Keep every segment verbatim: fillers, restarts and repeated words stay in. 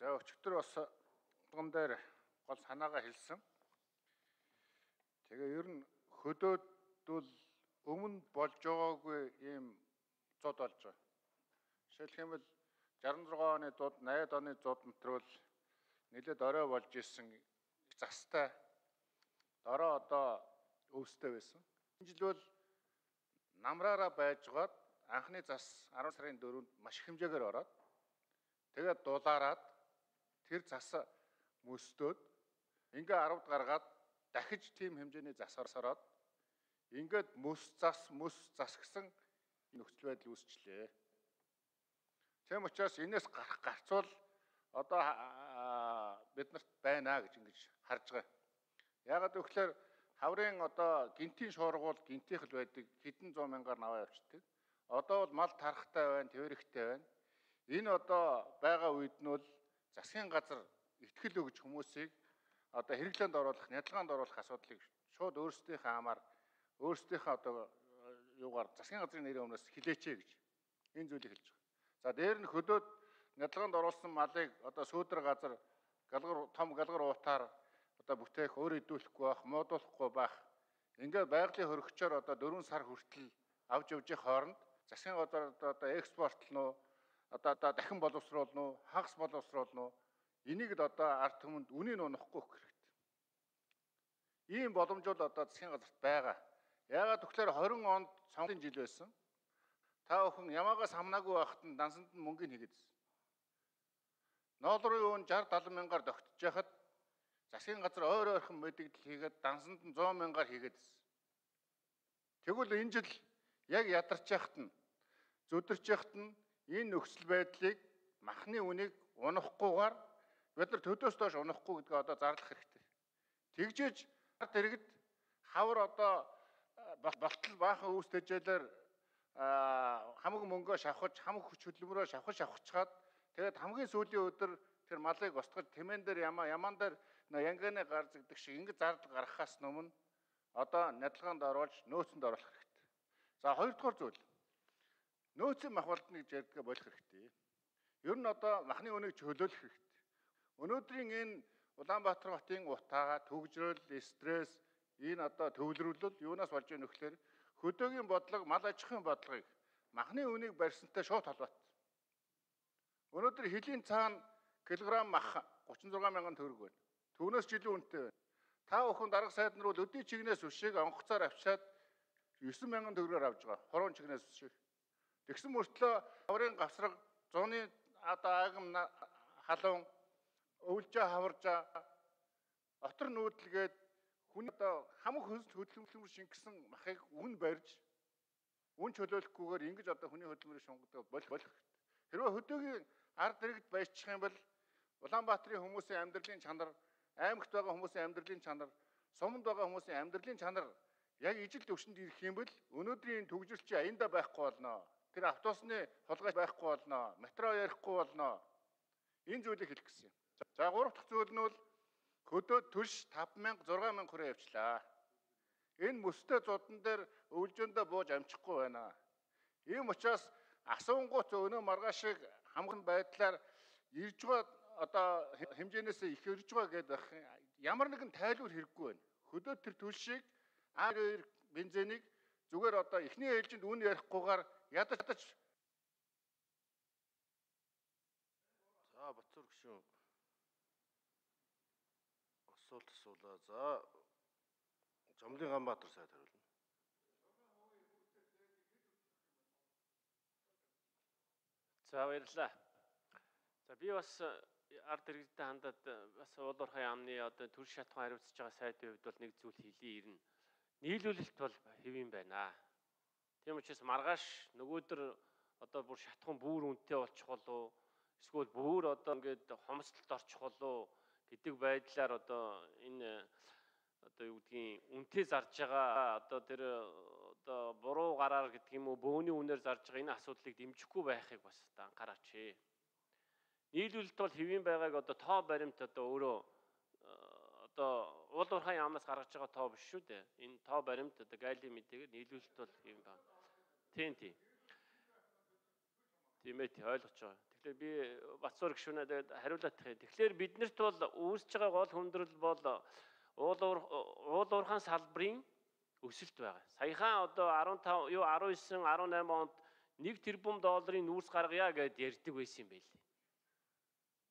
За өчигдөр бас тун дээр гол санаагаа хэлсэн. Тэгээ ер нь хөдөөд бол өмнө болж байгаагүй ийм зод болж байгаа. Жишээлх юм бол шарсан зургаан оны зууд, найдаад оны зууд мэтрэл нэлээд орой болж исэн застай дорой одоо өвстэй байсан. Энэ жил бол намраараа байжгаад анхны зас арван сарын дөрөвөнд маш их хэмжээгээр ороод тэгээд дулаараад тэр зас мөстөөд ингээ аравд гаргаад дахиж тийм хэмжээний зас орсороод ингээд мөс зас мөс зас гэсэн нөхцөл байдал үүсчлээ. Тийм учраас энэс гарах гарцвал одоо биднэрт байна гэж ингэж харж байгаа. Яагаад гэвэл хаврын одоо гинтийн шуургуул гинтийнх л байдаг хэдэн зуун мянгаар наваа явчихдаг. Одоо бол мал тархтай байна, твэрэгтэй байна. Энэ одоо байгаа үед нь бол засгийн газар итгэл өгж хүмүүсийг одоо хэрэглээнд оруулах, нядалгаанд оруулах асуудлыг шууд өөрсдийнхээ амаар өөрсдийнхээ одоо юугаар засгийн газрын нэрийн өмнөөс хилээч гэж энэ зүйлийг хэлж байгаа. За дээр нь хөдөөд нядалгаанд оруулсан малыг одоо сүүдэр газар галгар том галгар уутаар одоо бүтээх, өөр идэвхлэхгүй байх, муудуулахгүй байх. Ингээд байгалийн хөрөгчөөр одоо дөрвөн сар хүртэл авч явж хооронд засгийн газар одоо экспортлно уу, одоо одоо дахин боловсруулна уу, хагас боловсруулна уу? Энийг л одоо ард түмэнд үнийг унахгүй өгөх хэрэгтэй. Ийм боломж бол одоо засгийн газарт байгаа. Яагаад тэгэхээр хорин онд сонгоны жил байсан. Та бүхэн ямаагаас хамнаагүй байхад нь дансанд нь мөнгөний хийгээдсэн. Ноолрын үн шард талан мянгаар тогтож яхад засгийн газар ойр ойрхон мэдээлэл хийгээд дансанд нь зуун мянгаар хийгээдсэн. Тэгвэл энэ жил яг ядарч яхад нь зүдэрч яхад нь энэ нөхцөл байдлыг махны үнийг унахгүйгээр бид нар төдөөс доош унахгүй гэдгээ одоо зарлах хэрэгтэй. Тэгжээж ард иргэд хавар одоо болтол баахан үүс тэжээлэр хамаг мөнгөө шавхаж, хамаг хүч хөдөлмөрөөр шавхаж шавхачаад тэгээд хамгийн сүүлийн өдөр тэр малыг устгаж тэмээн дээр ямаа ямаан дээр янганы гар зэгдэг шиг ингэ зардал гаргахаас өмнө одоо нядалгаанд оруулж нөөцөнд оруулах хэрэгтэй. За хоёрдугаар зүйл. Нөөцийн махбалдныг зэрэг болох хэрэгтэй. Ер нь одоо махны үнийг чөлөөлөх хэрэгтэй. Өнөөдрийн энэ Улаанбаатар хотын утаа, төгжрөл, стресс, энэ одоо төвлөрүүлэл юунаас болж байгаа нөхлөөр хөдөөгийн бодлого, мал аж ахуйн бодлогыг махны үнийг барьсантай шууд холбоотой. Өнөөдөр хилийн цаана килограмм мах гучин зургаан мянган төгрөг байна. Түүнээс жилийн үнэтэй байна. Та бүхэн дарга сайд нар бол өдний чигнээс үшиг онгоцоор авчаад девять мянган төгрөгөөр авж байгаа. Хорон чигнээс үшиг. Тэгсэн мөртлөө хаврын гавсраг, зуны одоо агам халуун өвлжээ хаваржаа отор нүүдэлгээд хүн одоо хамаг хөдөлмөр шингэсэн махыг үн барьж үн чөлөөлөхгүйгээр ингэж одоо хүний хөдөлмөрийг шунгадаг болох хэрэгтэй. Хэрвээ хөдөөгийн ард иргэд баяжчих юм бол Улаанбаатарын хүмүүсийн амьдралын чанар, аймагт байгаа хүмүүсийн амьдралын чанар, суманд байгаа хүмүүсийн амьдралын чанар яг ижил төвшөнд ирэх юм бол өнөөдрийн төгжрөлч аянда байхгүй болно. Тэр автобусны холгой байхгүй болно. Метро ярихгүй болно. Энэ зүйлийг хэлэх гэсэн юм. За гурав дахь зүйл нь бол хөдөө төрш таван мянга зургаан мянга хүрээ явчлаа. Энэ мөстэй зудан дээр өвлжөндөө бууж амжихгүй байна. Ийм учраас асуунгууц өнөө маргааш шиг хамган байдлаар ирж байгаа одоо хэмжээнээс их ирж байгаа гэдэг ямар нэгэн тайлбар хэрэггүй байна. Хөдөө тэр төлшийг ар хоёр бензинийг зүгээр одоо эхний ээлжинд үн ярихгүйгээр ядаж За Батцуур гүшүүн асуулт асуулаа. За Жомлын Ганбаатар сайд хариулна. За баярлалаа. За би бас ард иргэдтэй хандаад бас уулуурхай яамны одоо төр шатхан хариуцж байгаа сайдын хувьд бол нэг зүйл хэлий ирнэ. Нийлүүлэлт бол хэвэн байна. Тийм учраас маргааш нөгөөдөр одоо бүр шатхан бүр үнэтэй болчих болов эсвэл бүр одоо ингээд хомсдолд орчих болов гэдэг байдлаар одоо энэ одоо юу гэдгийг үнэтэй зарж байгаа одоо тэр одоо буруу гараар гэдэг юм уу бөөний үнээр зарж байгаа энэ асуудлыг дэмжихгүй байхыг бас одоо анхаараач. Нийлүүлэлт бол хэвэн байгааг одоо тоо баримт одоо өөрөө одоо уулуурхай яамнаас гаргаж байгаа тоо биш шүү дээ. Энэ тоо баримт одоо гайли мэдээгээр нийлүүлэлт бол хэвэн байна. Тийм тийм. Тийм ээ тий ойлгож байгаа. Тэгэхээр би Батцуур гишүүнээ тэгээд хариулах юм. Тэгэхээр биднэрт бол үүсэж байгаа гол хүндрэл бол уул уул уурхайн салбарын өсөлт байгаа. Саяхан одоо арван тав юу арван девять арван найман онд нэг тэрбум долларын нүүрс гаргая гэд ярьдаг байсан юм байлээ.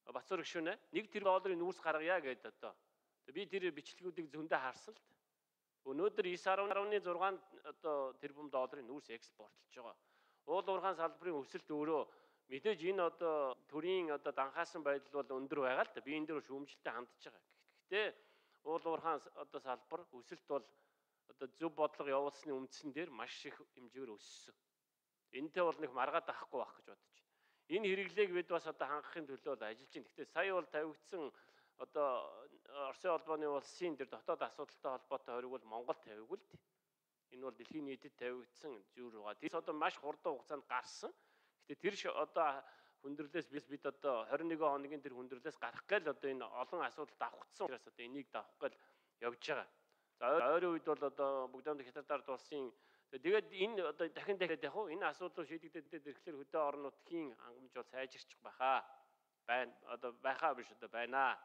Батцуур гишүүнээ нэг тэрбум долларын нүүрс гаргая гэд одоо би тэр бичлэгүүдийг зөндөө харсан л. Өнөөдөр девять дашь шесть одоо тэрбум долларын нүүрс экспортлж байгаа. Уул уурхайн салбарын өсөлт өөрөө мэдээж энэ одоо төрийн одоо данхаасан байдал бол өндөр байгаа л да. Би энэ дээр шүүмжлэлтэй хандж байгаа. Гэхдээ уул уурхайн одоо салбар өсөлт бол одоо зөв бодлого явуулсны үндсэн дээр маш их хэмжээгээр өссөн. Энэтэй бол нэг маргаад авахгүй байх гэж бодож байна. Энэ хэрэглээг бид бас одоо хангахын төлөө ажиллаж байна. Гэхдээ сая бол тавигдсан одоо Оросын холбооны улсын тэр дотоод асуудалтай холбоотой хориг бол Монгол тавигүй л дээ. Энэ бол дэлхийн нийтэд тавигдсан зүйл байгаа. Тэр одоо маш хурдан хугацаанд гарсан. Гэтэ тэр одоо хүндрэлээс бид одоо двадцать один хоногийн тэр хүндрэлээс гарах гээл одоо энэ олон асуудалд давхцсан учраас одоо энийг давах гээл явж байгаа. За ойрын үед бол одоо бүгдээ хятадаар дулсын тэгээд энэ одоо дахин дахиад яг хуу энэ асуудлыг шийдэгдээд ирэхлээр хөдөө орон нутгийн хангамж бол сайжирчих байхаа. Байна одоо байхаа биш одоо байна.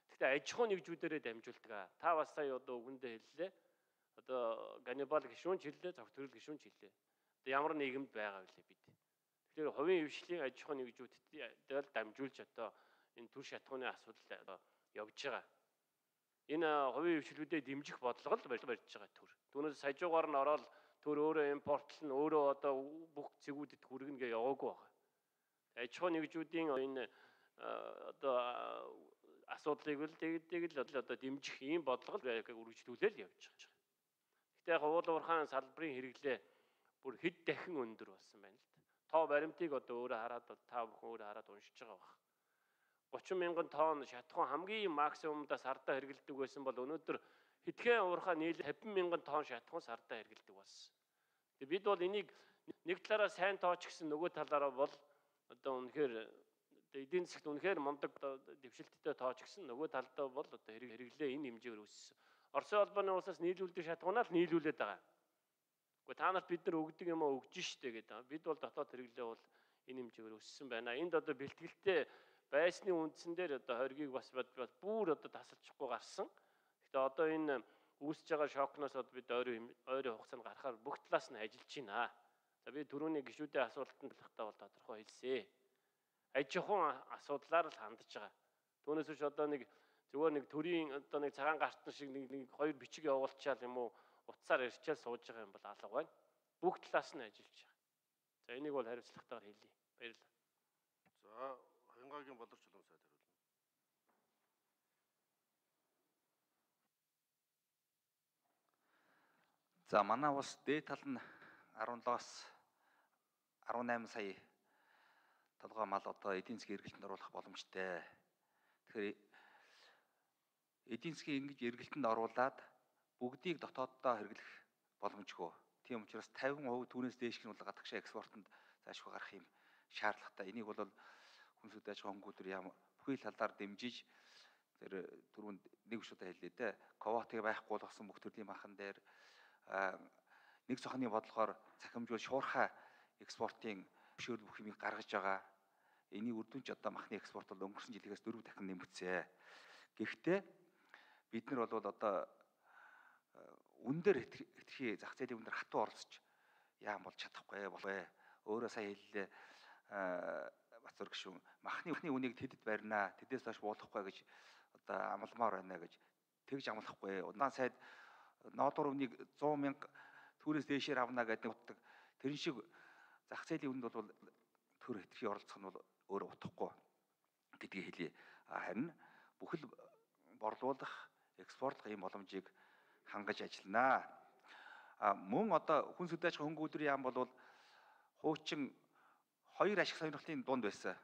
Гэхдээ аж ахуй нэгжүүдээрээ дамжуулдаг. Та бас сая одоо үгэндээ хэллээ. Одоо Ганнибал гишүүн ч хэллээ, Цогт төрөл гишүүн ч хэллээ. Одоо ямар нийгэмд байгаа вэ бид. Тэгэхээр хувийн хвшлийн аж ахуй нэгжүүдэд дамжуулж одоо энэ төр шатхууны асуудал одоо явж байгаа. Энэ хувийн хвшлүүдэд дэмжих бодлого л барьж байгаа төр. Түүнээс сажуугаар нь ороод төр өөрөө импортлно, өөрөө одоо бүх зэгүүдэд хүргэнэ гэж яваагүй байгаа. Аж ахуй нэгжүүдийн энэ одоо асуудлыг л тэгээд л одоо дэмжих ийм бодлого л үргэлжлүүлэл явж байгаа. Гэхдээ яг уул уурхайн салбарын хэрэглээ бүр хэд дахин өндөр болсон байна л да. Тоо баримтыг одоо өөрөө хараад та бүхэн өөрөө хараад уншиж байгаа баг. гучин мянган тонн шатхуун хамгийн максимумдаа сардаа хэрэглэдэг байсан бол өнөөдөр хэдхэн уурхай нийлээ тавин мянган тонн шатхуун сардаа хэрэглэдэг болсон. Тэгээ бид бол энийг нэг талаараа сайн тооч гэсэн нөгөө талаараа бол одоо үнэхээр эдийн засгт үнэхээр мундаг дэвшилттэй тооч гэсэн нөгөө талдаа бол одоо хэрэглээ энэ хэмжээгээр өссөн. Оросын холбооны улсаас нийлүүлдэг шатхуунаа л нийлүүлээд байгаа. Гэхдээ та нарт бид нар өгдөг юм аа өгж штэ гэдэг. Бид бол дотоод хэрэглээ бол энэ хэмжээгээр өссөн байна. Энд одоо бэлтгэлтэй байсны үндсэн дээр одоо хоргийг бас бүр одоо тасалчихгүй гарсан. Гэхдээ одоо энэ үүсэж байгаа шокноос одоо бид ойрын ойрын хугацаанд гарахаар бүх талаас нь ажиллаж байна. За би түрүүний гишүүдийн асуултанд талхтаа бол тодорхой хэлсэн. Аж ахуйн асуудлаар л хандж байгаа. Түүнээс биш одоо нэг зүгээр нэг төрийн одоо нэг цагаан гартан шиг нэг нэг хоёр бичиг явуулчаал юм уу утсаар ирчээл сууж байгаа юм бол алга байна. Бүх талаас нь ажиллаж байгаа. За энийг бол хариуцлагатайгаар хэлье. Баярлалаа. За Хянгагийн боловч чулуун сайд хариулна. За манай улс дээд тал нь арван долоос арван найман сая толгой мал одоо эдийн засгийн эргэлтэнд оруулах боломжтой. Тэгэхээр эдийн засгийн ингэж эргэлтэнд оруулаад бүгдийг дотооддоо хэрэглэх боломжгүй. Тийм учраас тавин хувь түүнээс дээш нь бол гадагшаа экспортод заашгүй гарах юм шаардлагатай. Энийг бол хүнсүүд аж ахуйн хөнгөлөлтөөр яам бүхий л талаар дэмжиж тэр түрүүнд нэг биш удаа хэллээ дээ. Ковотыг байхгүй болгосон бүх төрлийн банкн дээр нэг цохны бодлогоор цахимжуул шуурхай экспортын зөвшөөрөл бүх юмыг гаргаж байгаа. Энийг үр дүнч одоо махны экспорт бол өнгөрсөн жилээс дөрөв дахин нэмэгдсэн. Гэхдээ бид нар бол одоо үн дээр хэтэрхий зах зээлийн үн дээр хатуу оролцож яам болж чадахгүй болвэ. Өөрөө сая хэллээ Батцуур гишүүн махны үнийг тэдэд барина, тэдээс хойш буулгахгүй гэж одоо амламаар байна гэж тэгж амлахгүй. Удаан сайд ноодор үнийг сто мянга түүнээс дээшээр авна гэдэг утдаг. Тэрэн шиг зах зээлийн үнд бол төр хэтэрхий оролцох нь бол өөрөө утахгүй гэдгийг хэлье. Харин бүхэл борлуулах, экспортлох ийм боломжийг хангаж ажиллана. А мөн одоо хүн сүдэж хөнгөлдрийн яам бол хуучин хоёр ашиг сонирхлын дунд байсан.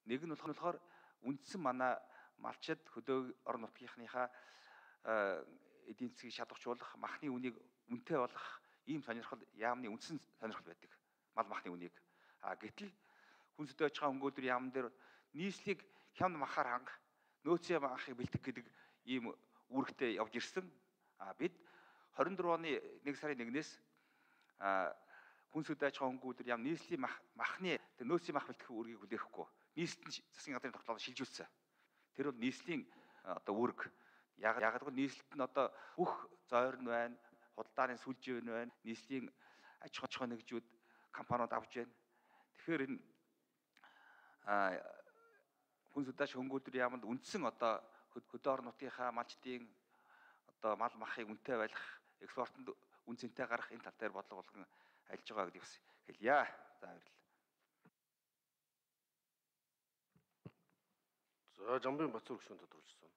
Нэг нь болохоор үндсэн манай малчид хөдөө орон нутгийнхныхаа эдийн засгийг шалгуулах, махны үнийг үнэтэй болгох ийм сонирхол яамны үндсэн сонирхол байдаг. Мал махны үнийг. А гэтэл хүн сүдэж хөнгөлдрийн яам дээр нийслийг хямд махаар хангах, нөөцийн махыг бэлтгэх гэдэг ийм үүрэгтэй явж ирсэн. А бид двадцать дөрвөн оны нэг сарын нэгнээс Хүн сүд аж ахуйн хөнгөлөлтөөр ям нийслэлийн мах махны тэр нөөцийн мах бэлтгэх үүргийг хүлээхгүй. Нийслэлд засгийн газрын тогтоолд шилжүүлсэн. Тэр бол нийслэлийн одоо үүрэг. Яг яг л нийслэлд нь одоо бүх зойрн байна, худалдааны сүлжээ байна, нийслэлийн аж ахуй нэгжүүд компаниуд авч байна. Тэгэхээр энэ хүн сүд аж ахуйн хөнгөлөлтөөр яманд үндсэн одоо хөдөө орон нутгийнхаа малчдын одоо мал махыг үнэтэй байлгах, экспортод үн цэнтэй гарах энэ тал дээр бодлого болгон ажиллаж байгаа гэдгийг бас хэлье. За баярлалаа. За Жамбын Бацуур гүшүүн тодорхойлсон.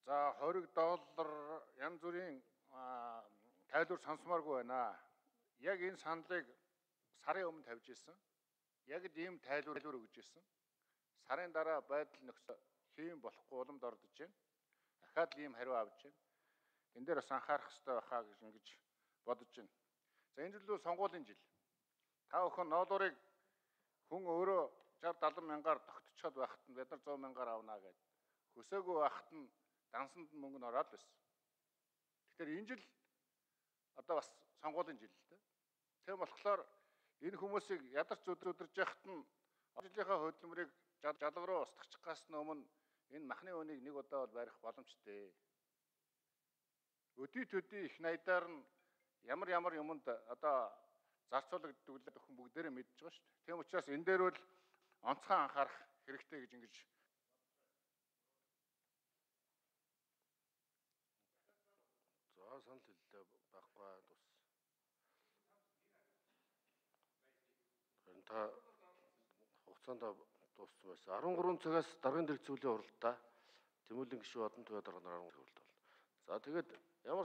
За хориг доллар янз бүрийн тайлбар сонсомооргүй байна. Яг энэ саналыг сарын өмнө тавьж ирсэн. Яг л ийм тайлбар өгж ирсэн. Сарын дараа байдал нөхцөл хийм болохгүй уламд ордож байна. Дахиад л ийм хариу авч байна. Энд дээр бас анхаарах хэрэгтэй байхаа гэж ингэж бодож байна. За энэ жил бол сонгуулийн жил. Та бүхэн ноолуурыг хүн өөрөө шавьдесят седем мянгаар тогтцоод байхад нь бид нар сто мянгаар авнаа гэд. Хөсөөгүй байхад нь дансанд мөнгө нь ороод байсан. Тэгэхээр энэ жил одоо бас сонгуулийн жил л дээ. Тийм болохоор энэ хүмүүсийг ядарч өдөрж яхад нь жилийнхаа хөдөлмөрийг жалга руу устгахчаас өмнө энэ махны үнийг нэг удаа бол барих боломжтой. Өдий төдий их найдаар нь ямар ямар юмд одоо зарцуулагддаг л өхөн бүгдээрээ мэдж байгаа шүү дээ. Тийм учраас энэ дээр бол онцгой анхаарах хэрэгтэй гэж ингэж За санал хэллээ байхгүй тус. Харин та хугацаанд дууссан байсан. арван гурван цагаас даргын дэргэц зүйлийн уралдаа Тэмүүлэн гишүүн одон туяа дарга нараар хөвөлт бол. За тэгээд ямар